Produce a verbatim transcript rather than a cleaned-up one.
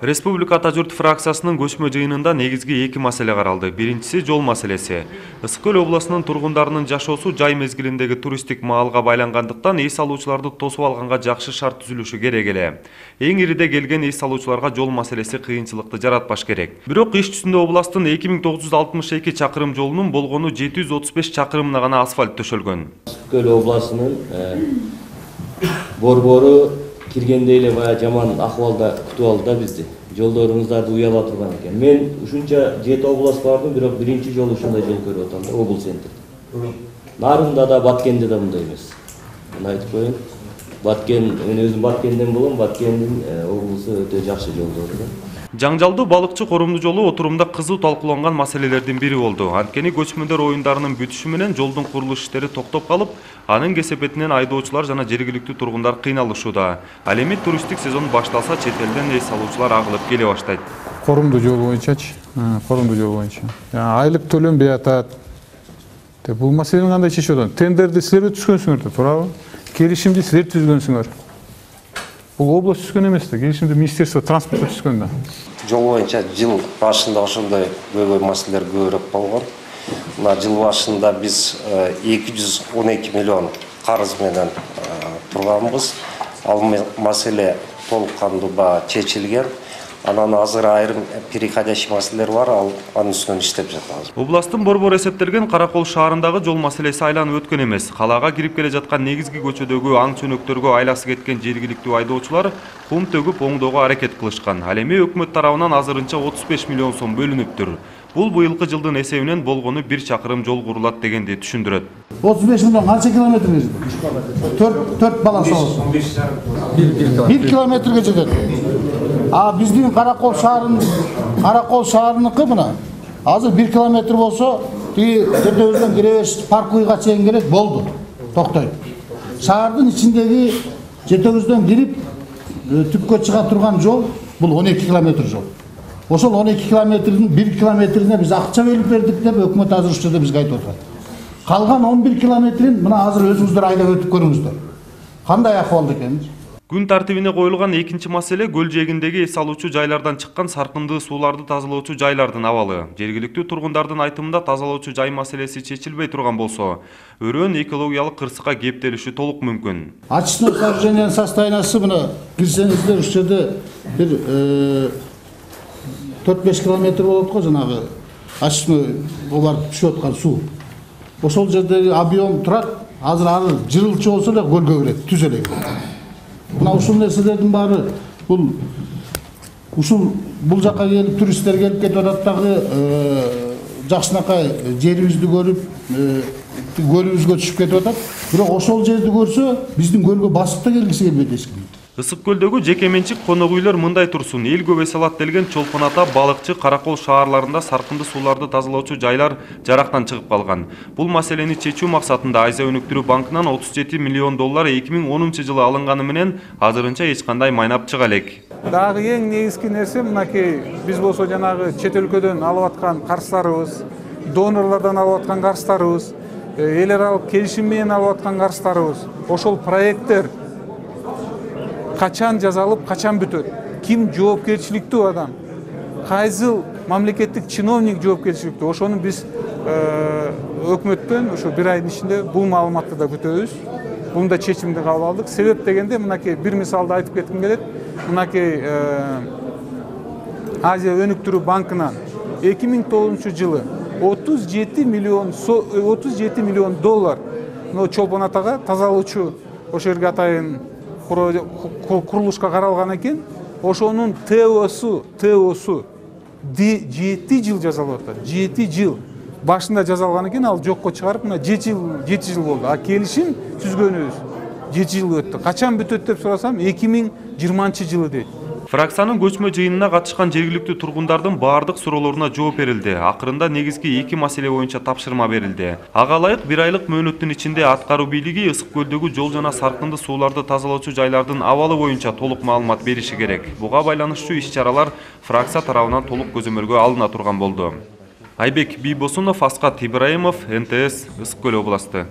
Республика Ата журт фракциясынын көчмө жыйынында негизги эки маселе каралды. Биринчиси жол маселеси. Ысык көл областынын тургундарынын жашоосу жай мезгилиндеги туристтик маалга байлангандыктан эс алуучуларды тосуп алганга жакшы шарт түзүлүшү керек эле. Эң ириде келген эс алуучуларга жол маселеси кыйынчылыкты жаратпаш керек. Бирок иш жүзүндө областтын эки миң тогуз жүз алтымыш эки чакырым жолунун болгону жети жүз отуз беш чакырымына гана асфальт төшөлгөн. Ысык көл областынын борбору киргенде эле бая жаман акыбалда күтүп алды да бизди. Жолдорубуздарды уяла турган экен. Мен ушунча жети област бардым, бирок биринчи жолу ушундай жол көрүп атам да, облус центр. Нарында да, Баткенде да мындай эмес. Мына айтып коеюн. Баткен, мен өзүм Баткенден болом, Баткендин облусу өтө жакшы жолдору да. Жаңжалдуу балыкчы корумду жолу отурумда кызуу талкууланган маселелердин бири болду. Анткени көчмөндөр оюндарынын бүтүшү менен жолдун курулуш иштери токтоп калып, анын кесепетинен айдоочулар жана жергиликтүү тургундар кыйналышууда. Ал эми туристтик сезон башталса, чет элден эс алуучулар агылып келе баштайт. Корумду жол боюнчачы, корумду жол боюнча. Айлык төлөнбөй атат. Бул маселени кандай чечип атат? Тендерди силер өткүзгөнсүңөр да, туурабы? Келишимди силер түзгөнсүңөр. Бул область түзгөн эмес да, келишимди министерство транспорта түзгөн да. Жол боюнча жыл башында ошондой көйгөй маселелер көбүрөөк болгон. Мына жыл башында биз эки жүз он эки миллион карыз менен турганбыз. Ал маселе толук кандуу чечилген. Анан азыр айрым переходящий маселелер бар, ал анын үстүнөн иштеп жатабыз. Областтын борбору эсептелген Каракол шаарындагы жол маселеси айланып өткөн эмес. Калаага кирип келе жаткан негизги көчөдөгү аң чөнөктөргө айласы кеткен жергиликтүү айдоочулар кум төгүп оңдоого аракет кылышкан. Ал эми өкмөт тарабынан азырынча отуз беш миллион сом бөлүнүптүр. Бул быйылкы жылдын эсебинен болгону бир чакырым жол курулат дегенди түшүндүрөт. отуз беш миллион канча километрге жетет? төрт баласы болсо. бир километрге жетет. А биздин Каракол шаарынын Каракол шаарыныкы мына азыр бир километр болсо, тиги жетөөбүздөн киребеш паркуйга чейин келет, болду. Токтойт. Шаардын ичиндеги жетөөбүздөн кирип түпкө чыга турган жол бул он эки километр жол. Ошол он эки километрдин бир километрине биз акча бөлүп бердик деп өкмөт азыр ушул жерде бизге айтып атат. Калган он бир километрин мына азыр өзүңүздөр айлап өтүп көрүңүздөр. Кандай акыбалда экенин. Күн тартибине коюлган экинчи маселе көл жээгиндеги эс алуучу жайлардан чыккан саркындуу сууларды тазалоочу жайлардын абалы. Жергиликтүү тургундардын айтымында тазалоочу жай маселеси чечилбей турган болсо, өрөөн экологиялык кырсыкка кептелиши толук мүмкүн. Очистное сооружениянын состояниясы мына кирсеңиздер ушул жерде бир төрт беш километр болот го, жанагы очистное барып түшүп аткан суу. Ошол жердеги объем турат, азыр аны жырылчу болсо эле көлгө кирет, түз эле. Мына ушул нерселердин баары бул ушул бул жакка келип туристтер келип кетип атат дагы жакшынакай жерибизди көрүп, көлүбүзгө түшүп кетип атат. Бирок ошол жерди көрсө, биздин көлгө басып да келгиси келбейт эч ким. Ысык көлдөгү жеке менчик конок үйлөр мындай турсун. Эл көп эс алат делген Чолпон Ата, Балыкчы, Каракол шаарларында саркынды сууларды тазалоочу жайлар жарактан чыгып калган. Бул маселени чечүү максатында Азия өнүктүрүү банкынан отуз жети миллион доллар эки миң онунчу жылы алынганы менен азырынча эч кандай майнап чыга элек. Дагы эң негизги нерсе мынакей биз болсо жанагы чет өлкөдөн алып аткан карыздарыбыз, донорлордон алып аткан карыздарыбыз, эл аралык келишим менен алып аткан карыздарыбыз, ошол проекттер качан жазалып, качан бүтөт? Ким жоопкерчиликтүү адам? Кайсыл мамлекеттик чиновник жоопкерчиликтүү? Ошону биз өкмөттөн ошо бир айдын ичинде бул маалыматты да күтөбүз. Бунда чечимди кабыл алдык. Себеп дегенде мынакей бир мисалды айтып кетким келет. Мынакей Азия өнүктүрүү банкынан эки миң тогузунчу жылы отуз жети миллион доллар Чолпон Атага тазалоочу ошол жерге атайын курулушка каралган экен. Ошонун ТОсу, ТОсу жети жыл жазалып атат. жети жыл. Башында жазалган экен, ал жокко чыгарып, мына жети жыл болду. А келишим түзгөнүбүз жети жыл өттү. Качан бүтөт деп сурасам, эки миң жыйырманчы жылы дейт. Фракциянын көчмө жыйынына катышкан жергиликтүү тургундардын баардык суроолоруна жооп берилди. Акырында негизги эки маселе боюнча тапшырма берилди. Ага ылайык бир айлык мөөнөттүн ичинде аткаруу бийлиги ысык көлдөгү жол жана саркынды сууларды тазалоочу жайлардын абалы боюнча толук маалымат бериши керек. Буга байланыштуу иш-чаралар фракция тарабынан толук көзөмөлгө алына турган болду. Айбек Бийбосунов, Аскат Ибраимов, эн тэ эс, Ысык көл областы.